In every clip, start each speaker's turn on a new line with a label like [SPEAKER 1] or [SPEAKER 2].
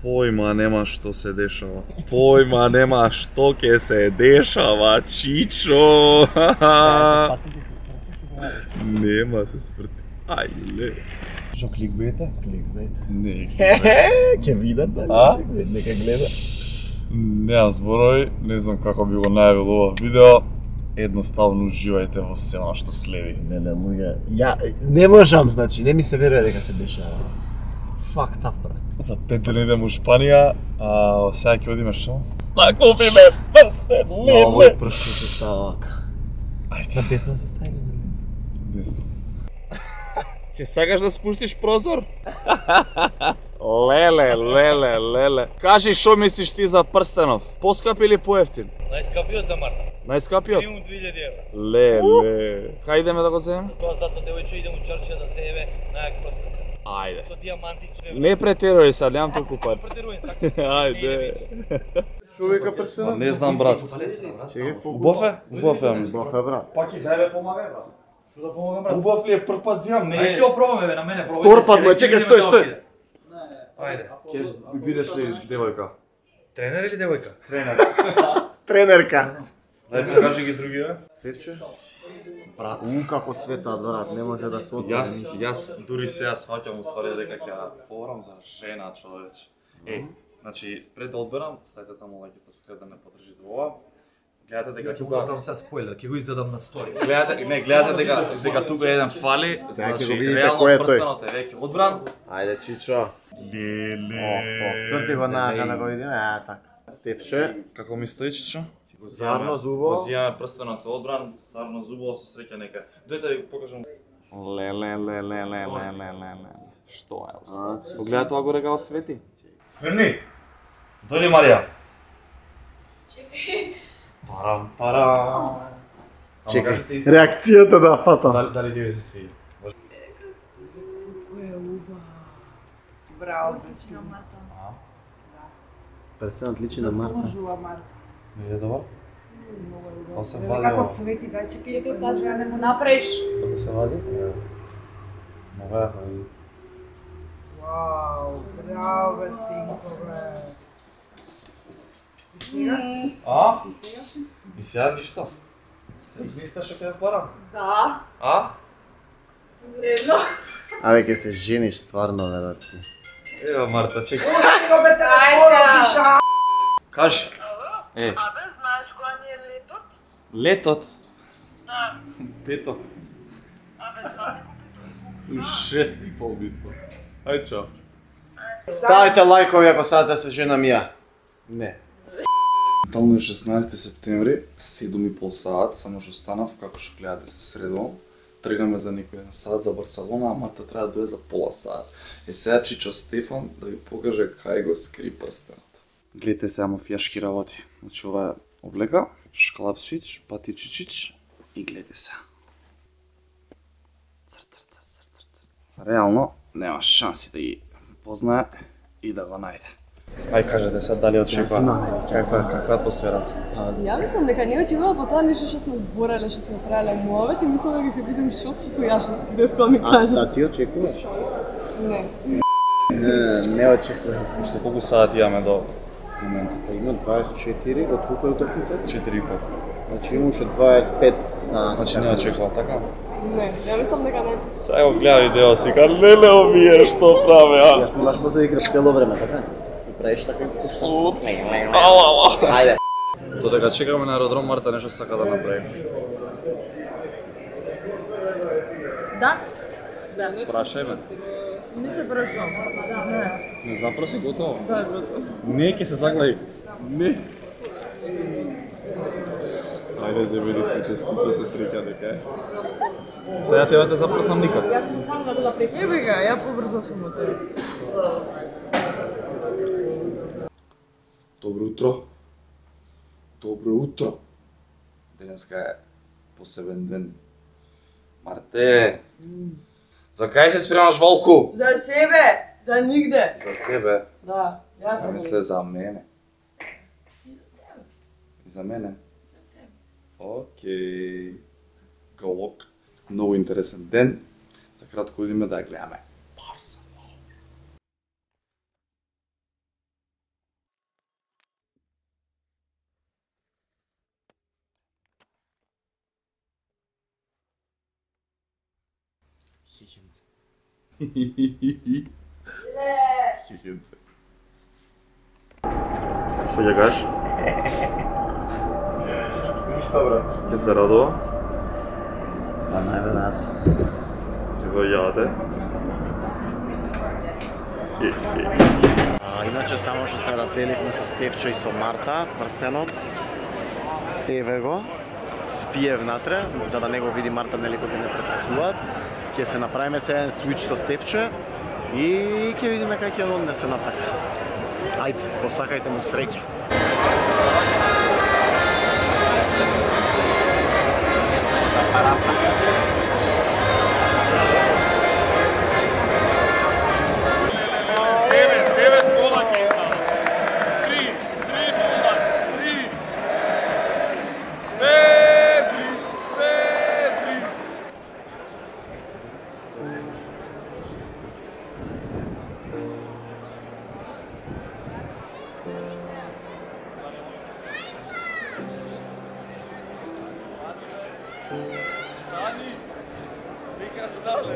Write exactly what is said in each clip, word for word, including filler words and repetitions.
[SPEAKER 1] Појма нема што се дешава. Појма нема што ќе се дешава, Чичо. Нема се спрти. Ајле.
[SPEAKER 2] Што кликбейта? Кликбейта.
[SPEAKER 1] Не.
[SPEAKER 2] Ќе видат, да?
[SPEAKER 1] А?
[SPEAKER 2] Нека гледа.
[SPEAKER 1] Неа зборови, не знам како би го најавил ова видео. Едноставно уживајте во се она што следи.
[SPEAKER 2] Не, не, луѓе. Ја не можам, значи, не ми се верува дека се дешава. Fucked up, брат.
[SPEAKER 1] За пет дена идем у Шпанија, а сега ќе одиме што? Накупиме прстен, леле!
[SPEAKER 2] Овој прстен се става вака.
[SPEAKER 1] Ајде.
[SPEAKER 2] На десно се стави, не?
[SPEAKER 1] Десно. Ќе сакаш да спуштиш прозор? Леле, леле, леле. Кажи што мислиш ти за прстенов? Поскап или поевтин?
[SPEAKER 3] Најскапиот за Марта.
[SPEAKER 1] Најскапиот?
[SPEAKER 3] Минимум две илјади евра.
[SPEAKER 1] Леле. Кај идеме да го земеме?
[SPEAKER 3] Тоа здато девојче идем у Чарчија да се еве најак прстенце.
[SPEAKER 1] Ајде.
[SPEAKER 3] Со диаманти со
[SPEAKER 1] Не претеруј сад, немам толку пари.
[SPEAKER 3] претерување така.
[SPEAKER 1] Ајде.
[SPEAKER 2] Шо века прстенот?
[SPEAKER 1] Не знам, брат.
[SPEAKER 2] Чекај,
[SPEAKER 1] Убав е? Убав е, ја мислам.
[SPEAKER 2] Убав е, брат.
[SPEAKER 1] Пак и дај бе помагај, брат.
[SPEAKER 3] Што да помогам, брат?
[SPEAKER 1] Убав ли е, прв пат земам, не
[SPEAKER 3] Ајде
[SPEAKER 1] е.
[SPEAKER 3] ќе го пробаме бе, на мене пробај.
[SPEAKER 2] Втор пат, бе, чекај, стој, стој.
[SPEAKER 3] Ајде.
[SPEAKER 1] Ќе бидеш ли девојка?
[SPEAKER 3] Тренер или девојка?
[SPEAKER 1] Тренер.
[SPEAKER 2] Тренерка.
[SPEAKER 1] Дај покажи ги другиве.
[SPEAKER 2] Стефче? Брат. У, како света, брат, не може да се отвори.
[SPEAKER 1] Јас, јас дури сега сваќам уствари дека ќе говорам за жена, човече. Е, значи, пред да одберам, ставите таму лајк и сапскрайб да не поддржите ова. Гледате дека тука
[SPEAKER 3] Тука се спойлер, ќе го издадам на стори.
[SPEAKER 1] гледате, не, гледате дека дека тука еден фали,
[SPEAKER 2] Сега ќе го
[SPEAKER 1] значи
[SPEAKER 2] видите
[SPEAKER 1] реално
[SPEAKER 2] кој е тој.
[SPEAKER 1] прстенот е веќе одбран.
[SPEAKER 2] Ајде, Чичо.
[SPEAKER 1] Леле.
[SPEAKER 2] Срти го нака да го видиме, а така. Стефче,
[SPEAKER 1] Како ми стои, Чичо?
[SPEAKER 2] Сарно зубо.
[SPEAKER 1] Го зијаме прстенот е одбран, сарно зубо со среќа нека. Дојте да ви покажам. Леле, леле, леле, леле, леле. Што е уста? Погледај тоа горе како свети. Спремни? Дојди, Марија. Чекај. Парам, парам.
[SPEAKER 2] Чекај, реакцијата да фатам.
[SPEAKER 1] Дали, дали ти ви се свиѓа?
[SPEAKER 4] Кој е уба. Браво, значи на Марта.
[SPEAKER 2] Прстенот личи на Марта.
[SPEAKER 4] Заслужува Марта.
[SPEAKER 1] Не е добар?
[SPEAKER 4] Многу е
[SPEAKER 1] Па се
[SPEAKER 4] добро.
[SPEAKER 1] вади
[SPEAKER 4] Како
[SPEAKER 1] ова.
[SPEAKER 4] свети, дај чекај.
[SPEAKER 5] Чекај, кажи да го направиш.
[SPEAKER 1] Како се вади? Мога да вади.
[SPEAKER 4] Вау, браво бе, синко бе. И сега?
[SPEAKER 1] А?
[SPEAKER 4] И сега?
[SPEAKER 1] И сега ништо. Мислиш што ќе парам?
[SPEAKER 5] Да.
[SPEAKER 1] А?
[SPEAKER 5] Вредно.
[SPEAKER 2] Абе, ќе се жениш стварно, верат ти.
[SPEAKER 1] Ева, Марта, чекај.
[SPEAKER 4] Пусти го бе,
[SPEAKER 5] Ај
[SPEAKER 4] телефонот,
[SPEAKER 5] сега.
[SPEAKER 4] диша.
[SPEAKER 1] Кажи. Е,
[SPEAKER 6] Абе, знаеш која ни е летот?
[SPEAKER 1] летот.
[SPEAKER 6] Да.
[SPEAKER 1] Петок.
[SPEAKER 6] Абе, знаеш
[SPEAKER 1] У шест и пол мислам. Ај чао.
[SPEAKER 2] Ставите лајкови ако сакате да се женам ја. Не.
[SPEAKER 1] Таму е шеснаесети септември, седум и пол саат, само што станав, како што гледате се средувам. Тргаме за некој еден саат за Барселона, а Марта треба да дојде за пола саат. Е сега Чичо Стефан да ви покаже кај го скри прстенот. Гледате сега мафијашки работи. Значи ова е облека, шклапшич, патичичич и гледате сега. Цр, цр, цр, цр, цр, цр. Реално нема шанси да ги познае и да го најде. Ај кажете сега дали очекува. Каква каква е атмосферата?
[SPEAKER 7] Ја мислам дека не очекува по тоа нешто што сме збореле, што сме правеле муавет и мислам дека ќе бидам шок како ја што бев кога ми
[SPEAKER 2] А,
[SPEAKER 7] кажа.
[SPEAKER 2] да ти очекуваш?
[SPEAKER 7] Не.
[SPEAKER 2] Не, не очекувам.
[SPEAKER 1] Што колку сати имаме до моментот?
[SPEAKER 2] Па има дваесет и четири, од колку е утакмица?
[SPEAKER 1] четири и пол.
[SPEAKER 2] Значи имаше дваесет и пет сати.
[SPEAKER 1] Значи не очекувам така?
[SPEAKER 7] Не, ја мислам дека не.
[SPEAKER 1] Сега го гледа видео си, ка леле овие што праве, а?
[SPEAKER 2] Јас снимаш поза игра цело време, така? И правиш така и
[SPEAKER 1] Суц. Ала, ала.
[SPEAKER 2] Ајде.
[SPEAKER 1] Додека чекаме на аеродром, Марта нешто сака да направи.
[SPEAKER 7] Да? Да.
[SPEAKER 1] Прашај ме.
[SPEAKER 7] Не те прашам. Не.
[SPEAKER 1] Не запроси готово.
[SPEAKER 7] Да, готово.
[SPEAKER 1] Не, ќе се заглави. Не. Ајде, земени сме честито се среќа дека е. Сега тебе те запросам никад.
[SPEAKER 7] Јас сум фан да била преќе бега, ја побрзо сум од тебе.
[SPEAKER 1] Добро утро. Добро утро. Денеска е посебен ден. Марте. За кај се спремаш, Волку?
[SPEAKER 7] За себе, за нигде.
[SPEAKER 1] За себе.
[SPEAKER 7] Да, јас
[SPEAKER 1] Ја
[SPEAKER 7] сум.
[SPEAKER 1] мисле за мене. И за мене? Океј. Голок. Многу интересен ден. За кратко идеме да ја гледаме.
[SPEAKER 2] Хихенце.
[SPEAKER 1] Хихенце.
[SPEAKER 3] Што ќе кажеш?
[SPEAKER 2] Ништо, брат.
[SPEAKER 3] Ќе се радува?
[SPEAKER 2] Па најверојатно.
[SPEAKER 3] Ќе го јаде?
[SPEAKER 2] А, иначе само што се разделивме со Стефче и со Марта, прстенот. Еве го. Спие внатре, за да не го види Марта нели кога не претресуваат. Ќе се направиме се еден свич со Стефче и ќе видиме како ќе однесе натака. Ајде, посакајте му среќа.
[SPEAKER 1] Stani! Neka stale!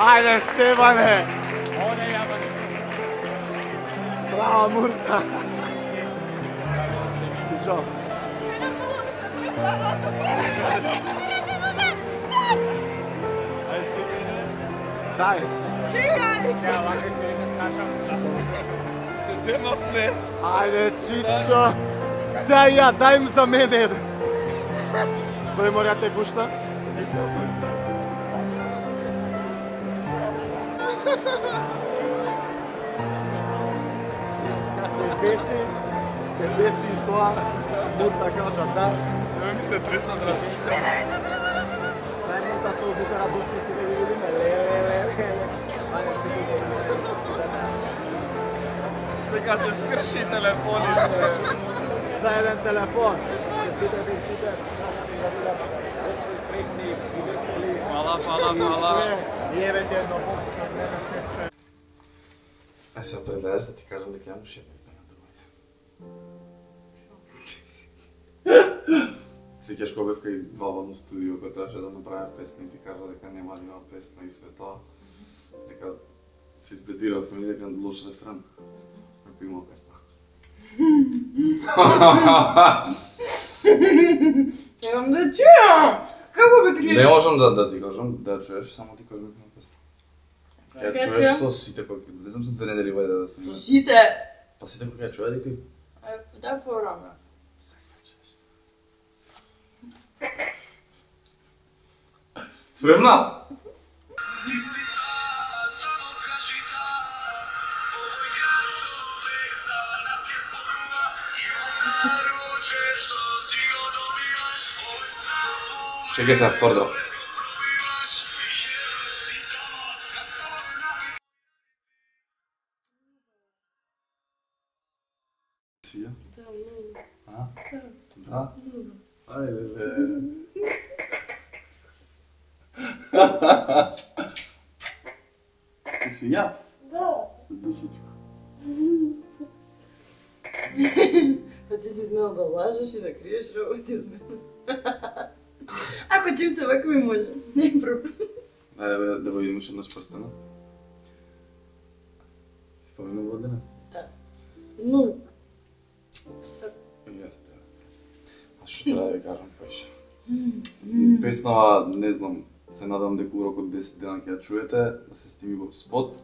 [SPEAKER 2] Ајде, Стеване! Браво, Мурта! Чичо! Дај!
[SPEAKER 1] Се земавме!
[SPEAKER 2] Ајде, Чичо! Сега ја, дај им за мене еден! Тој мора те гушна? Се деси, се деси и тоа, Мурта кажа да.
[SPEAKER 1] Не ми се треса зраз.
[SPEAKER 2] Дај Мурта солзите радосници да ги видиме. Ле, ле, ле, ле. Ајде, се видиме.
[SPEAKER 1] Дека се скрши телефони се.
[SPEAKER 2] За еден телефон. Честите ви сите. Среќни и весели.
[SPEAKER 1] Фала, фала, фала.
[SPEAKER 2] И евете едно
[SPEAKER 1] Ај се предадеш да ти кажам дека јам ше не знам другање. Сеќаш кога бев кај Валвано студио кој требаше да направи песна и ти кажа дека нема да има песна и све тоа. Дека се избедиравме и дека лош рефрен. Ако има песна.
[SPEAKER 4] Немам да чујам! Како бе криеш?
[SPEAKER 1] Не можам да, да ти кажам, да чуеш, само ти кажам дека има песна. Ќе
[SPEAKER 4] Ќе
[SPEAKER 1] чуеш
[SPEAKER 4] чујам?
[SPEAKER 1] со сите кои, не знам со две недели вајде да снимаме.
[SPEAKER 4] Сите!
[SPEAKER 1] Па сите кои ќе чуе дека
[SPEAKER 4] Е, да порано.
[SPEAKER 1] Спремна? Чекай се второ. Сија?
[SPEAKER 7] Да, многу.
[SPEAKER 1] А? Да? Ајде бе. Ти си ја?
[SPEAKER 7] Да.
[SPEAKER 1] Душичко.
[SPEAKER 7] Па ти си знал да лажеш и да криеш работи од мене. Ако чим се вака ми може, не е проблем.
[SPEAKER 1] Ајде бе, да го видиш еднаш прстена. Си поминува од денес?
[SPEAKER 7] Да. Но,
[SPEAKER 1] Јесте. А што треба да ви кажам поише? Песнава, не знам, се надам дека урок од десет дена ќе ја чуете, да се сними во спот.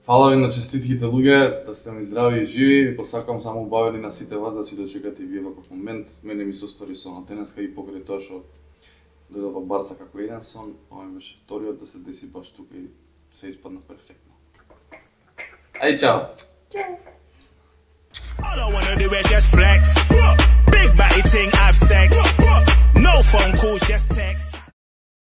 [SPEAKER 1] Фала ви на честитките луѓе, да сте ми здрави и живи. Посакам само убавени на сите вас да си дочекате и вие ваков момент. Мене ми се оствари сонот денеска и покрај тоа што дојдов во Барса како еден сон, ова ми беше вториот да се деси баш тука и се испадна перфектно. Ај, чао!
[SPEAKER 8] All I wanna do is just flex. Big body thing, have sex. No phone calls, just text.